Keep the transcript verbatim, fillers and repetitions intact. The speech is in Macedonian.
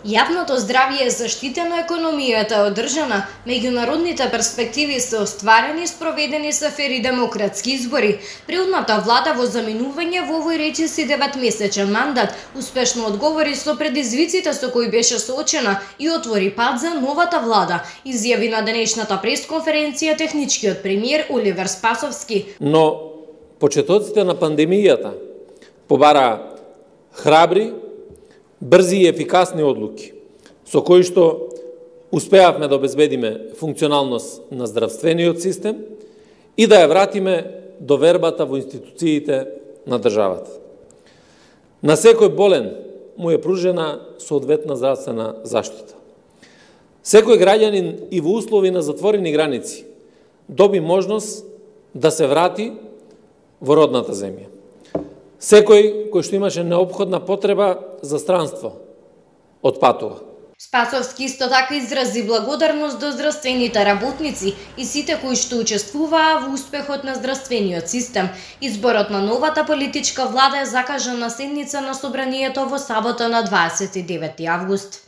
Јавното здравје е заштитено, економијата е одржана, меѓународните перспективи се остварени, спроведени се фери демократски избори. Предходната влада во заминување во овој речиси деветмесечен мандат успешно одговори со предизвиците со кои беше соочена и отвори пат за новата влада, изјави на денешната пресконференција техничкиот премиер Оливер Спасовски. Но почетоците на пандемијата побара храбри, брзи и ефикасни одлуки, со кои што успеавме да обезбедиме функционалност на здравствениот систем и да ја вратиме довербата во институциите на државата. На секој болен му е пружена соодветна здравствена заштита. Секој граѓанин и во услови на затворени граници доби можност да се врати во родната земја. Секој кој што имаше неопходна потреба за странство отпатува. Спасовски исто така изрази благодарност до здравствените работници и сите кои што учествуваа во успехот на здравствениот систем. Изборот на новата политичка влада е закажан на седница на собранието во сабота на дваесет и девети август.